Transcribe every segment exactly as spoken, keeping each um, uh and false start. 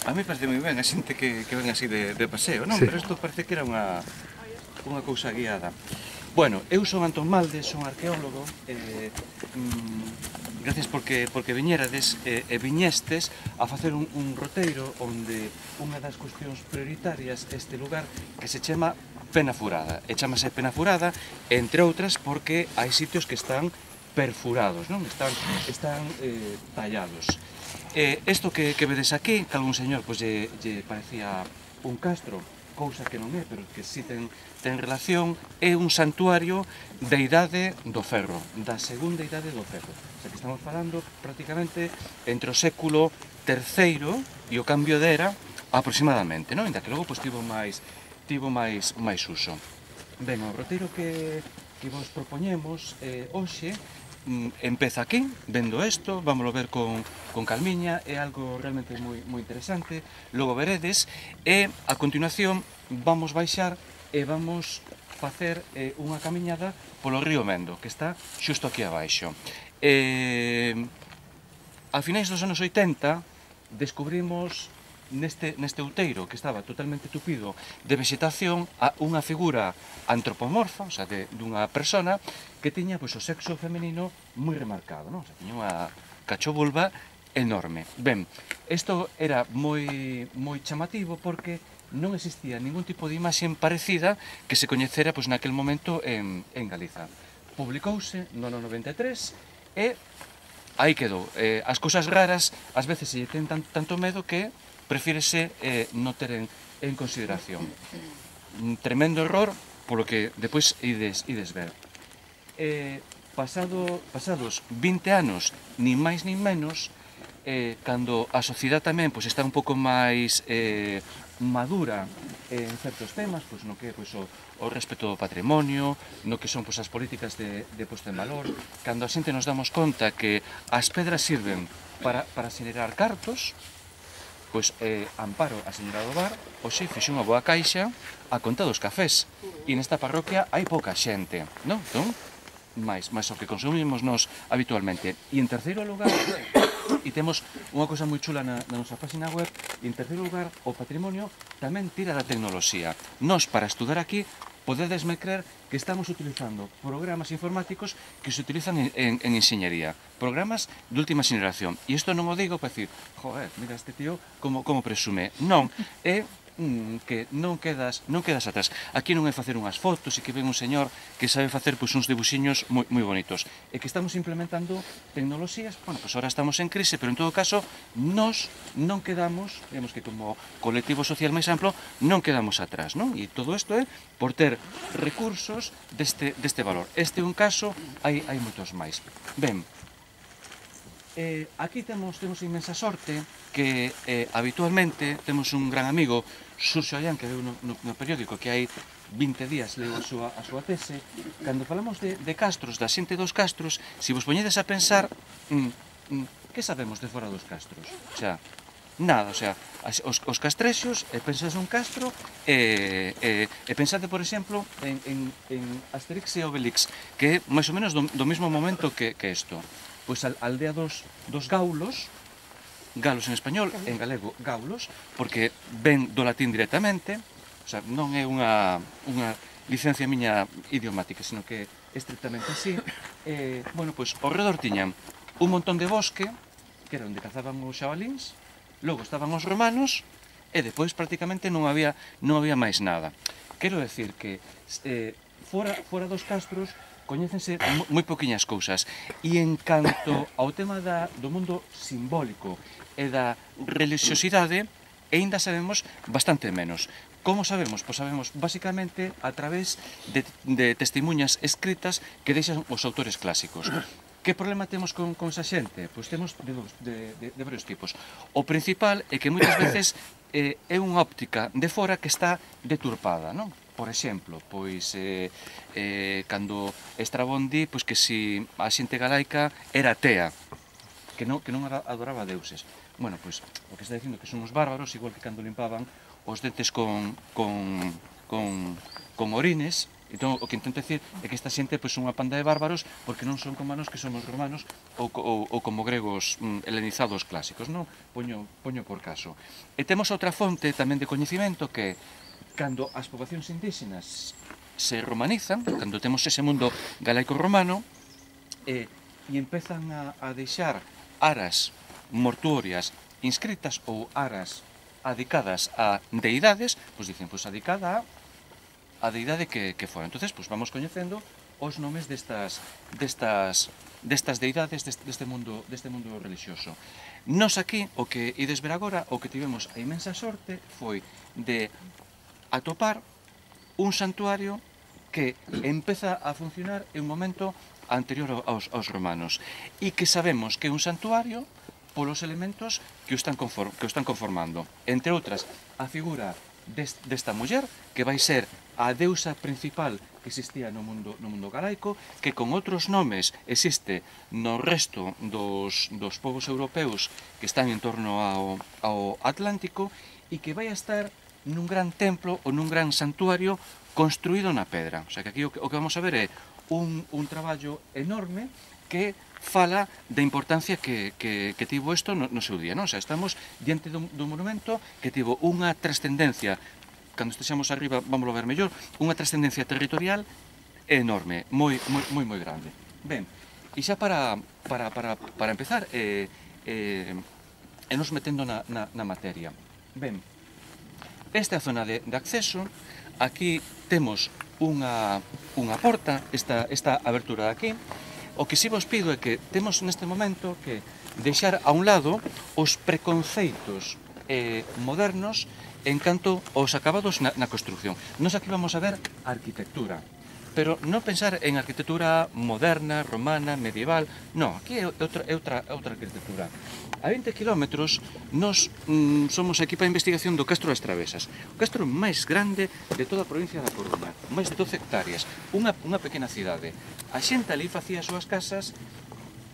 A mí parece moi ben a xente que, que ven así de, de paseo, non? Sí. Pero isto parece que era unha, unha cousa guiada. Bueno, eu son Antón Malde, son arqueólogo, eh, mm, gracias porque, porque viñerades eh, e viñestes a facer un, un roteiro onde unha das cuestións prioritarias este lugar que se chama Penafurada. E chamase Penafurada, entre outras, porque hai sitios que están perfurados, non? Están, están eh, tallados. Eh, isto que, que vedes aquí, que algún señor pois, lle, lle parecía un castro, cousa que non é, pero que si ten, ten relación, é un santuario da idade do ferro, da segunda idade do ferro. O sea, que estamos falando prácticamente entre o século terceiro e o cambio de era aproximadamente, non? Ainda que logo pois, tivo máis tivo máis máis uso. Ben, o roteiro que, que vos propoñemos eh, hoxe empeza aquí, vendo isto, vámoslo ver con, con calmiña, é algo realmente moi, moi interesante, logo veredes, e a continuación vamos baixar e vamos facer eh, unha camiñada polo río Mendo, que está xusto aquí abaixo. Eh, a finais dos anos oitenta descubrimos neste, neste outeiro que estaba totalmente tupido de vegetación a unha figura antropomorfa, o sea, de, dunha persona que tiña pois, o sexo femenino moi remarcado, non? O sea, tiña unha cachovulva enorme. Ben, isto era moi, moi chamativo porque non existía ningún tipo de imaxe parecida que se coñecera pois, naquel momento en, en Galiza. Publicouse no ano noventa e tres e aí quedou. Eh, as cousas raras ás veces se ten tan, tanto medo que prefírese eh, non ter en, en consideración. Un tremendo error polo que depois ides, ides ver. Eh, pasado, pasados vinte anos, nin máis nin menos, eh, cando a sociedade tamén pois, está un pouco máis eh, madura en certos temas, pois, no que pois, o, o respeto do patrimonio, no que son pois, as políticas de, de posto en valor, cando a xente nos damos conta que as pedras sirven para, para xenerar cartos, pois eh, Amparo, a señora do bar, hoxe fixe unha boa caixa a conta dos cafés. E nesta parroquia hai pouca xente, non? Entón, máis, máis o que consumimos nos habitualmente. E en terceiro lugar, e temos unha cosa moi chula na, na nosa página web, e en terceiro lugar, o patrimonio tamén tira da tecnoloxía. Nos, para estudar aquí, podedesme creer que estamos utilizando programas informáticos que se utilizan en, en, en enxeñería, programas de última xeneración. E isto non o digo para decir, joder, mira este tío como, como presume. Non, é mm, que non quedas, non quedas atrás. Aquí non é facer unhas fotos e que ven un señor que sabe facer pois, uns dibuxiños moi, moi bonitos. É que estamos implementando tecnoloxías, bueno, pois ahora estamos en crise, pero en todo caso, nós non quedamos, digamos que como colectivo social máis amplo, non quedamos atrás, non? E todo isto é por ter recursos deste, deste valor. Este é un caso, hai, hai moitos máis. Ben, eh, aquí temos, temos inmensa sorte que eh, habitualmente temos un gran amigo, Xurxo Allán, que veu no, no, no periódico que hai vinte días leu a súa, a súa tese. Cando falamos de, de castros, da xente dos castros, se vos poñedes a pensar, mm, mm, que sabemos de fora dos castros? O sea, nada, o sea, os, os castrexos, e pensades un castro, e, e, e pensade, por exemplo, en, en, en Asterix e Obelix, que é máis ou menos do, do mesmo momento que, que isto. Pois a aldea dos, dos gaulos, galos en español, en galego gaulos, porque ven do latín directamente, o sea, non é unha, unha licencia miña idiomática, sino que é estrictamente así. Eh, bueno, pois, ao redor tiñan un montón de bosque, que era onde cazaban os xabalíns, logo estaban os romanos, e depois prácticamente non había, non había máis nada. Quero decir que eh, fora, fora dos castros coñécense moi poquinhas cousas, e en canto ao tema da, do mundo simbólico e da religiosidade, aínda sabemos bastante menos. Como sabemos? Pois sabemos basicamente a través de, de testemunhas escritas que deixan os autores clásicos. Que problema temos con, con esa xente? Pois temos de, de, de, de varios tipos. O principal é que moitas veces eh, é unha óptica de fora que está deturpada, non? Por exemplo, pois eh, eh, cando Estrabón di pois, que si a xente galaica era atea, que non, que non adoraba deuses. Bueno, pois o que está dicindo que son os bárbaros, igual que cando limpaban os dentes con, con, con, con orines, Entón, o que intento decir é que esta xente pois, son unha panda de bárbaros porque non son como nós que somos romanos ou, ou, ou como gregos mm, helenizados clásicos, non? Poño, poño por caso. E temos outra fonte tamén de coñecimento que cando as poboacións indígenas se romanizan, cando temos ese mundo galaico-romano, e, e empezan a, a deixar aras mortuorias inscritas ou aras adicadas a deidades, pois dicen, pois adicada a a deidade que, que fora. Entonces, pois vamos coñecendo os nomes destas, destas, destas deidades deste, deste, mundo, deste mundo religioso. Nos aquí, o que ides ver agora, o que tivemos a imensa sorte foi de atopar un santuario que empeza a funcionar en un momento anterior aos, aos romanos e que sabemos que é un santuario polos elementos que o están, conform, que o están conformando. Entre outras, a figura desta muller, que vai ser a deusa principal que existía no mundo, no mundo galaico, que con outros nomes existe no resto dos, dos povos europeus que están en torno ao, ao Atlántico e que vai a estar nun gran templo ou nun gran santuario construído na pedra. O sea que aquí o que, o que vamos a ver é un, un traballo enorme que fala da importancia que, que, que tivo isto no, no seu día, non? O sea, estamos diante dun, dun monumento que tivo unha trascendencia, cando estexamos arriba, vamos a ver mellor, unha trascendencia territorial enorme, moi, moi, moi, moi grande. Ben, e xa para, para, para, para empezar, eh, eh, e nos metendo na, na, na materia. Ben, esta é a zona de, de acceso, aquí temos unha, unha porta, esta, esta abertura de aquí. O que si vos pido é que temos neste momento que deixar a un lado os preconceitos eh, modernos en canto aos acabados na, na construcción. Nos aquí vamos a ver a arquitectura, pero non pensar en arquitectura moderna, romana, medieval, non, aquí é outra, é outra, outra arquitectura. A vinte kilómetros nos mm, somos a equipa de investigación do Castro das Travesas, o castro máis grande de toda a provincia da Coruña, máis de doce hectáreas, unha, unha pequena cidade. A xente ali facía as súas casas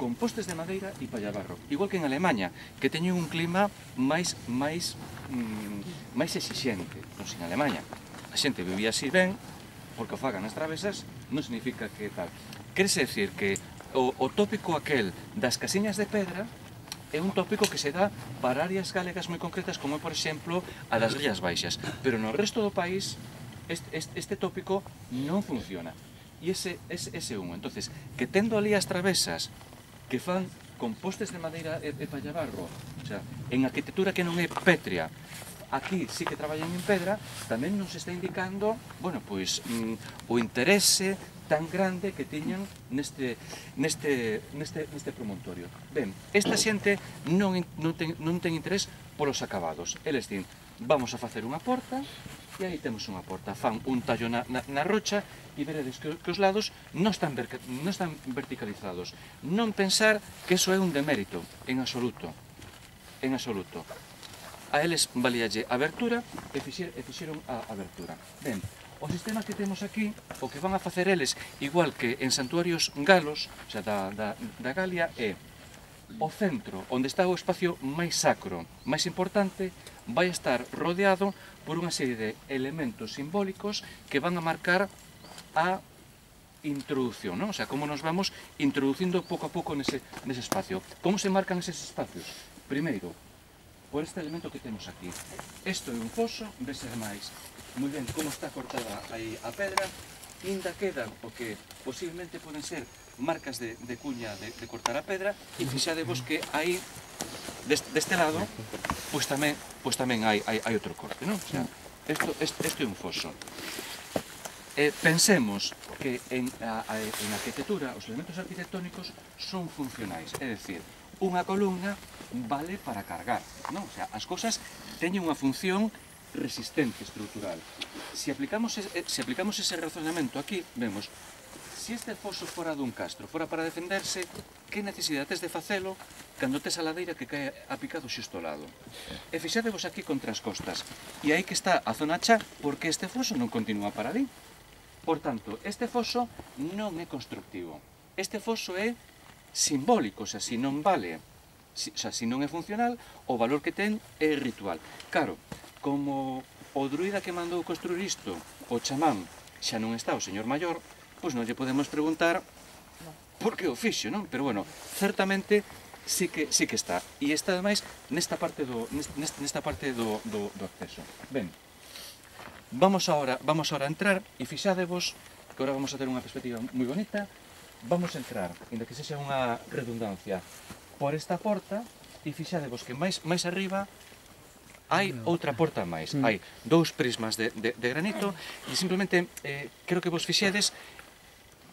con postes de madeira e pallabarro, igual que en Alemanha, que teñen un clima máis máis mm, máis exixente. Non en Alemanha a xente vivía así ben, porque o fagan as travesas, non significa que tal. Querese decir que o, o tópico aquel das casiñas de pedra é un tópico que se dá para áreas galegas moi concretas, como, por exemplo, a das Rías Baixas. Pero no resto do país, este, este, este tópico non funciona. E ese, ese, ese un. Entonces, que tendo ali as travesas que fan con postes de madeira e, e pallabarro, o sea, en arquitectura que non é pétrea, aquí sí que traballan en pedra, tamén nos está indicando, bueno, pois, mm, o interese tan grande que tiñan neste, neste, neste, neste promontorio. Ben, esta xente non, non, ten, non ten interés polos acabados. Eles din, vamos a facer unha porta, e aí temos unha porta. Fan un tallo na, na, na rocha e veredes que, que os lados non están, ver, non están verticalizados. Non pensar que eso é un demérito, en absoluto. En absoluto. A eles valíalle a abertura e, fixer, e fixeron a abertura. Ben, o sistema que temos aquí, o que van a facer eles, igual que en santuarios galos, o sea, da, da, da Galia, é o centro, onde está o espacio máis sacro, máis importante, vai estar rodeado por unha serie de elementos simbólicos que van a marcar a introducción, non? O sea, como nos vamos introducindo pouco a pouco nese, nese espacio. Como se marcan eses espacios? Primeiro, por este elemento que temos aquí. Isto é un foso, vese máis moi ben como está cortada aí a pedra, ainda quedan o que posiblemente poden ser marcas de, de cuña de, de cortar a pedra, e fixadevos que aí, deste, deste lado, pois tamén, pois tamén hai, hai, hai outro corte, non? O sea, isto, isto, isto é un foso. Eh, pensemos que en, a, a, en arquitectura os elementos arquitectónicos son funcionais, é dicir, unha columna vale para cargar, non? O sea, as cousas teñen unha función resistente, estrutural. Se aplicamos, se aplicamos ese razonamento aquí, vemos, se este foso fora dun castro, fora para defenderse, que necesidade tes de facelo cando tes a ladeira que cae a picado xusto ao lado? E fixadevos aquí contra as costas, e aí que está a zona chá, porque este foso non continúa para ali. Por tanto, este foso non é constructivo. Este foso é simbólico, o sea, se non vale, o sea, se non é funcional, o valor que ten é ritual. Claro, como o druida que mandou construir isto, o chamán, xa non está o señor maior, pois non lle podemos preguntar por que o fixo, non? Pero, bueno, certamente sí que, sí que está. E está, ademais, nesta parte do, nesta, nesta parte do, do, do acceso. Ben, vamos ahora, vamos ahora a entrar, e fixadevos, que agora vamos a ter unha perspectiva moi bonita, vamos a entrar, inda que sexa unha redundancia, por esta porta, e fixadevos que máis, máis arriba hai outra porta máis. Hai dous prismas de, de, de granito, e simplemente eh, creo que vos fixedes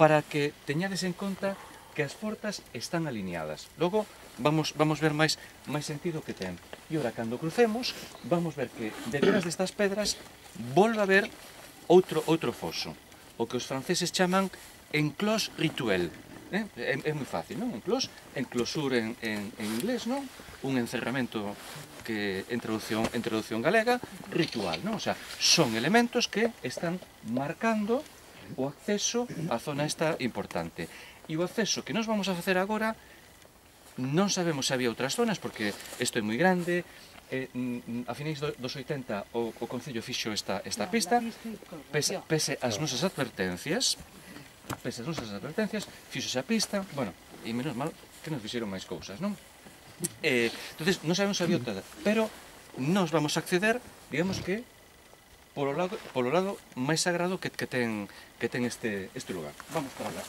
para que teñades en conta que as portas están alineadas. Logo, vamos, vamos ver máis, máis sentido que ten. E ora, cando crucemos, vamos ver que detrás destas pedras volve a haber outro, outro foso, o que os franceses chaman enclos rituel. Eh? É, é moi fácil, non? Enclos, enclosur en, en, en inglés, non? Un encerramento que en traducción, en traducción galega, ritual, non? O sea, son elementos que están marcando o acceso á zona esta importante. E o acceso que nos vamos a facer agora, non sabemos se había outras zonas, porque isto é moi grande, eh, a finais dos oitenta o, o Concello fixo esta, esta pista, pese, pese as nosas advertencias, pese as nosas advertencias, fixo esa pista, bueno, e menos mal que nos fixeron máis cousas, non? Eh, entonces, non sabemos se había outra, pero nos vamos a acceder, digamos que, polo lado, polo lado máis sagrado que, que ten, que ten este, este lugar. Vamos para lá.